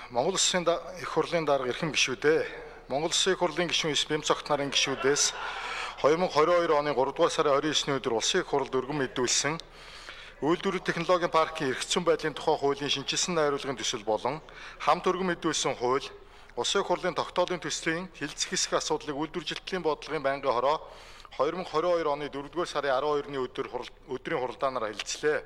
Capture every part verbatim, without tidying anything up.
Монгол Улсын их хурлын дарга эрхэм гишүүдээ Монгол Улсын их хурлын гишүүн бэм цогт нарын гишүүдээс две тысячи двадцать two оны тhree дугаар сарын29-ний өдөр Улсын их хурлд өргөн мэдүүлсэн үйлдвэрлэл технологийн паркийн эрх зүйн байдлын тухай хуулийн шинжилсэн найруулгын төсөл болон хамт өргөн мэдүүлсэн хууль Улсын их хурлын тогтоолын төслийн хилцэх хэсэг асуудлыг үйлдвэржилтлийн бодлогын байнгын хороо две тысячи двадцать two оны four дугаар сарын twelve-ны өдөр өдрийн хуралдаанаар хэлэлцлээ.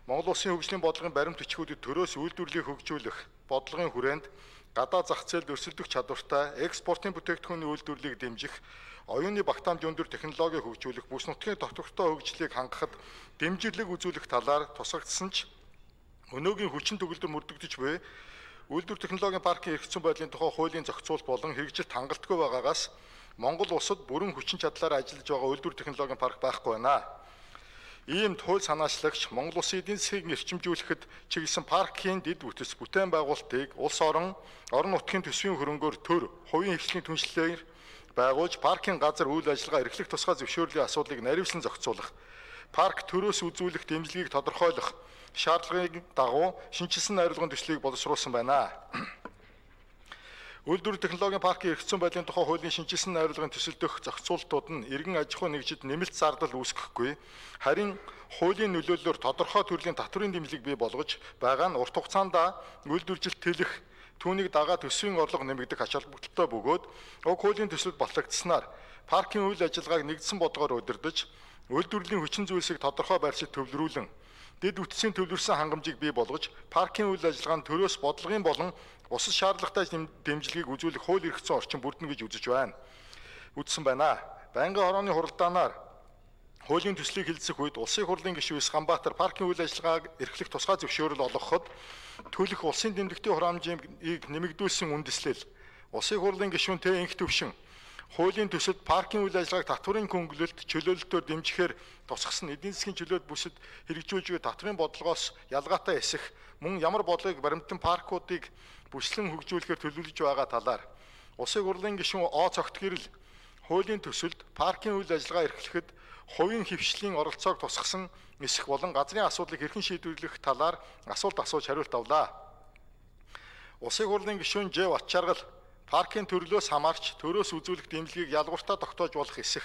Монгол Улсын хөгжлийн бодлогын баримт бичгүүдэд төрөөс үйлдвэрлэлийг хөгжүүлэх бодлогын хүрээнд гадаад зах зээлд өрсөлдөх чадвартай экспортын бүтээгдэхүүний үйлдвэрлэлийг дэмжих, оюуны багтаамж өндөр технологиг хөгжүүлэх, бүс нутгийн доктортой хөгжлийг хангахад дэмжлэг үзүүлэх талаар тусгагдсан ч өнөөгийн хүчин төгөлдөр мөрдөгдөж буй үйлдвэр технологийн паркийн эрх зүйн байдлын тухай хуулийн зохицуулт болон хэрэгжилт хангалтгүй байгаагаас Монгол улсад бүрэн хүчин чадлаар ажиллаж байгаа үйлдвэр технологийн парк байхгүй байна. Ийм хууль санаачлагч Монгол Улсын эдийн засгийг эрчимжүүлэхэд чиглэсэн паркийн дэд бүтц бүтээн байгуулалтыг улс орон орон нутгийн төсвийн хөрөнгөөр төр хувийн хвшлийн түншлэлээр байгуулж паркийн газар үйл ажиллагаа эрхлэх тусгай зөвшөөрлийн асуудлыг наривсан зохицуулах, парк төрөөс үзүүлэх дэмжлэгийг тодорхойлох шаардлагын дагуу шинжилсэн найруулгын төслийг боловсруулсан байна. Үйлдвэр технологийн паркийн эрх зүйн байдлын тухай хуулийн шинжилсэн найруулгын төсөл дөх зохицуултууд нь иргэн аж ахуй нэгжид нэмэлт зардал үүсгэхгүй, харин хуулийн нөлөөллөөр тодорхой төрлийн татврын дэмжлэг бий болгож байгаа нь урт хугацаанд үйлдвэржилт тэлэх, түүнийг дагаа төсвийн орлого нэмэгдэх ач холбогдолтой бөгөөд уг хуулийн төсөлд батлагдсанаар паркийн үйл ажиллагааг нэгдсэн бодлогоор удирдах, үйлдвэрлэлийн хүчин зүйлсийг тодорхой байршид төвлөрүүлэн дэд бүтцийн төвлөрсөн хангамжийг бий болгож паркийн үйл ажиллагаанд төрөөс бодлогын болон бусад шаардлагатай дэмжлэгийг үзүүлэх хууль эрх зүйн орчин бүрдэнэ гэж үзэж байна. Үзсэн байна. Байнгын хорооны хуралдаанаар хуулийн төслийг хэлэлцэх үед Улсын их хурлын гишүүн Сканбаатар паркийн үйл ажиллагааг эрхлэх тусгай зөвшөөрөл олгоход төлөх улсын тэмдэгтийн хураамжийг нэмэгдүүлсэн үндэслэл Улсын их хурлын гишүүнтэй инх төвшин хуулийн төсөлд паркийн үйл ажиллагааг татврын хөнгөлөлт чөлөөлөлтөөр дэмжихээр тусгасан эдийн засгийн чөлөөт бүсэд хэрэгжүүлж буй татврын бодлогоос ялгаатай эсэх мөн ямар бодлогыг баримтан паркуудыг бүслэн хөгжүүлэхээр төлөвлөж байгаа талаар Улсын хурлын гишүүн О цогт гэрэл хуулийн төсөлд паркийн үйл ажиллагаа эрхлэхэд хувийн хвшлийн оролцоог тусгасан эсэх болон газрын асуудлыг хэрхэн шийдвэрлэх талаар асуулт асууж хариулт авлаа. Улсын хурлын гишүүн Ж Батчаргал паркийн төрлөөс хамаарч төрөөс үзүүлэх дэмжлэгийг ялгууртаа тогтоож болох эсэх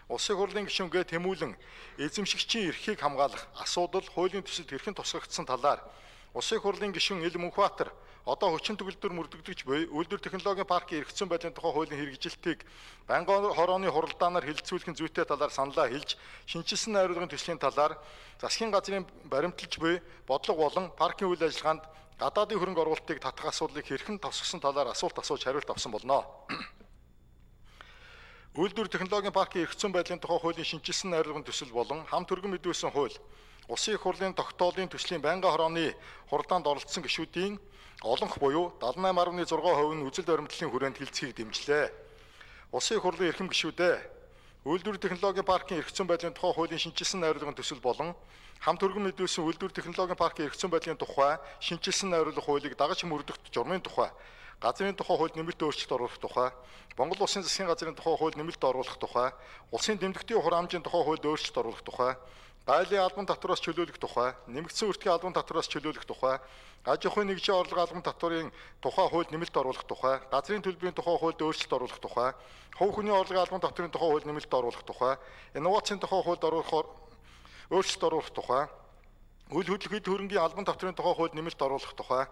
Улсын хурлын гишүүн Г Тэмүүлэн эзэмшигчийн эрхийг хамгаалах асуудал хуулийн төсөлд хэрхэн тусгагдсан талаар Улсын хурлын гишүүн Ил Мөнхбаатар одоо хүчин төгөлдөр мөрдөгдөж буй үйлдвэр технологийн паркийн эрх зүйн байдлын тухай хуулийн хэрэгжилтийг байнгын хорооны хуралдаанаар хэлэлцүүлэхин зүйтэй талаар саналаа хэлж, шинжилсэн найруулгын төслийн талаар засгийн газрын баримталж буй бодлого болон паркийн үйл ажиллагаанд гадаадын хөрөнгө оруулалтыг татах асуудлыг хэрхэн тосгосон талаар асуулт асууж хариулт авсан болно. Үйлдвэр технологийн паркийн эрх зүйн байдлын тухай хуулийн шинжилсэн найруулгын төсөл болон хамт өргөн мэдүүлсэн хууль Улсын их хурлын тогтоолын төслийн байнгын хорооны хуралдаанд оролцсон гишүүдийн олонх буюу seventy-eight point six percent нь үзэл баримтлалын хүрээнд хилцхийг дэмжлээ. Улсын их хурлын эрхэм гишүүдээ үйлдвэр технологийн паркийн эрх зүйн байдлын тухай хуулийн шинжилсэн найруулгын төсөл болон хамт өргөн мэдүүлсэн үйлдвэр технологийн паркийн эрх зүйн байдлын тухай шинжилсэн найруулга хуулийг дагаж мөрдөх журмын тухай, газрын тухай хуульд нэмэлт өөрчлөлт оруулах тухай, Монгол Улсын засгийн газрын тухай хуульд нэмэлт оруулах тухай, улсын тэмдэгтийн хураамжийн тухай хуульд өөрчлөлт оруулах тухай, гайлын албан татвараас чөлөөлөх тухай, нэмэгдсэн үртгийн албан татвараас чөлөөлөх тухай, аж ахуйн нэгжийн орлого албан татварын тухай хуульд нэмэлт оруулах тухай, газрын төлбөрийн тухай хуульд өөрчлөлт оруулах тухай, хувь хүний орлогын албан татварын тухай хуульд нэмэлт оруулах тухай, инновацийн тухай хуульд оруулах өөрчлөлт оруулах тухай, үйл хөдлөх хөрөнгийн албан татварын тухай хуульд нэмэлт оруулах тухай,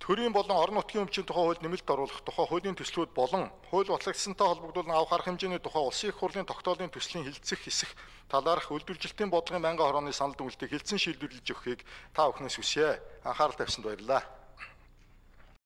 төрийн болон орон нутгийн өмчийн тухай хуульд нэмэлт оруулах тухай хуулийн төслүүд болон хууль батлагдсантай холбогдуулан авах арга хэмжээний тухай Улсын их хурлын тогтоолын төслийн хилцэх хэсэх талаарх үйлдвэржилтийн бодлогын байнгын хорооны санал дүгнэлтийг хэлцэн шийдвэрлэж өгөхийг та бүхнээс хүсье. Анхаарал тавьсанд баярлалаа.